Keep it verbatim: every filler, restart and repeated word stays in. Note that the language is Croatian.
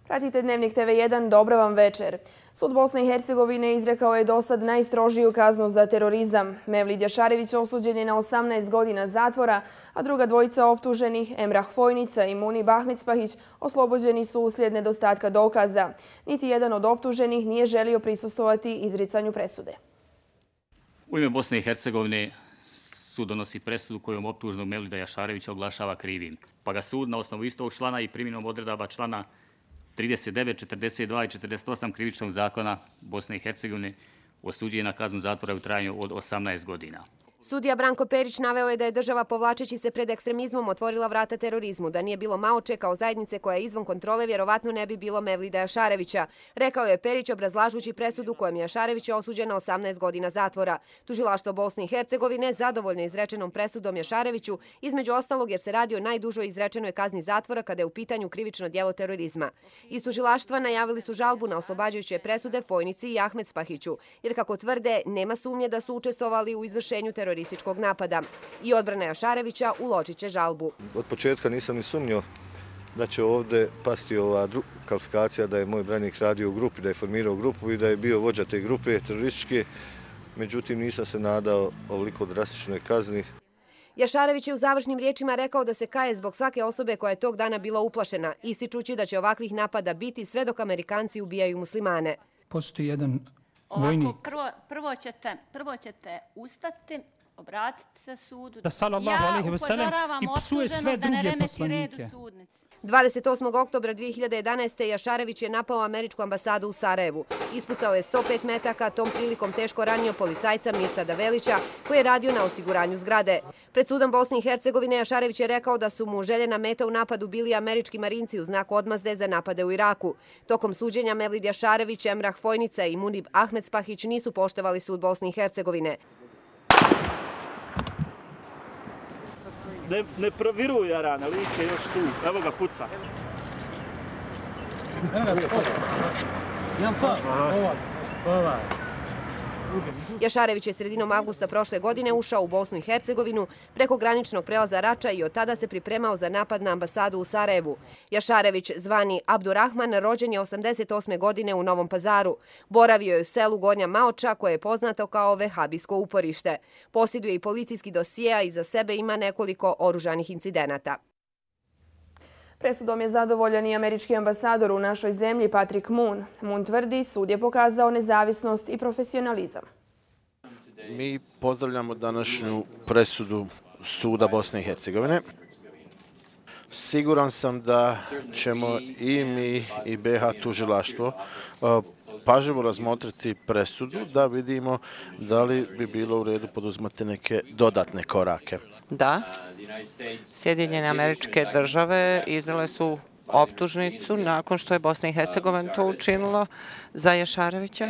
Pratite Dnevnik te ve jedan, dobra vam večer. Sud Bosne i Hercegovine izrekao je dosad najstrožiju kaznu za terorizam. Mevlid Jašarević osuđen je na osamnaest godina zatvora, a druga dvojica optuženih, Emrah Fojnica i Munib Ahmedspahić, oslobođeni su uslijed nedostatka dokaza. Niti jedan od optuženih nije želio prisustvovati izricanju presude. U ime Bosne i Hercegovine sud donosi presudu kojom optuženog Mevlida Jašarevića oglašava krivim, pa ga sud na osnovu istog člana i primjenom odredaba člana trideset devet, četrdeset dva i četrdeset osam krivičnog zakona Bosne i Hercegovine osuđuje na kaznu zatvora u trajanju od osamnaest godina. Sudija Branko Perić naveo je da je država povlačeći se pred ekstremizmom otvorila vrata terorizmu, da nije bilo Maoče kao zajednice koja je izvan kontrole, vjerovatno ne bi bilo Mevlida Jašarevića. Rekao je Perić obrazlažući presudu kojom je Jašarević osuđen na osamnaest godina zatvora. Tužilaštvo Bosne i Hercegovine zadovoljno izrečenom presudom Jašareviću, između ostalog jer se radi o najdužoj izrečenoj kazni zatvora kada je u pitanju krivično djelo terorizma. Iz tužilaštva najavili su žalbu na oslobađajuće presude Fojnici i Ahmedspahiću, jer kako tvrde, nema sumnje da su učestvovali u izvršenju terorističkog napada. I odbrana Jašarevića uložit će žalbu. Od početka nisam ni sumnjao da će ovdje pasti ova kvalifikacija da je moj branik radio u grupi, da je formirao grupu i da je bio vođa te grupe terorističke. Međutim, nisam se nadao ovoliko drastičnoj kazni. Jašarević je u završnim riječima rekao da se kaje zbog svake osobe koja je tog dana bila uplašena, ističući da će ovakvih napada biti sve dok Amerikanci ubijaju muslimane. Postoji jedan vojnik. Ovako, prvo, prvo, ćete, prvo ćete ustati, obratiti se sudu. Da sallallahu alejhi ve sellem i psuje sve druge poslanike. dvadeset osmog oktobra dvije hiljade jedanaeste. Jašarević je napao američku ambasadu u Sarajevu. Ispucao je sto pet metaka, tom prilikom teško ranio policajca Mirsada Velića, koji je radio na osiguranju zgrade. Pred sudom Bosne i Hercegovine Jašarević je rekao da su mu željena meta u napadu bili američki marinci u znak odmazde za napade u Iraku. Tokom suđenja Mevlid Jašarević, Emrah Fojnica i Munib Ahmedspahić nisu poštovali sud Bosne i Hercegovine. Ne, ne proviruj Jarana, lik je još tu. Evo ga, puca. Jašarević je sredinom avgusta prošle godine ušao u Bosnu i Hercegovinu preko graničnog prelaza Rača i od tada se pripremao za napad na ambasadu u Sarajevu. Jašarević, zvani Abdurrahman, rođen je osamdeset osme godine u Novom Pazaru. Boravio je u selu Gornja Maoča, koje je poznato kao vehabijsko uporište. Posjeduje i policijski dosije, a iza sebe ima nekoliko oružanih incidenata. Presudom je zadovoljan i američki ambasador u našoj zemlji Patrick Moon. Moon tvrdi, sud je pokazao nezavisnost i profesionalizam. Mi pozdravljamo današnju presudu suda Bosne i Hercegovine. Siguran sam da ćemo i mi i be ha tužilaštvo pažljivo razmotriti presudu da vidimo da li bi bilo u redu poduzmati neke dodatne korake. Da, Sjedinjene Američke Države izdale su optužnicu nakon što je Bosna i Hercegovina to učinilo za Jašarevića.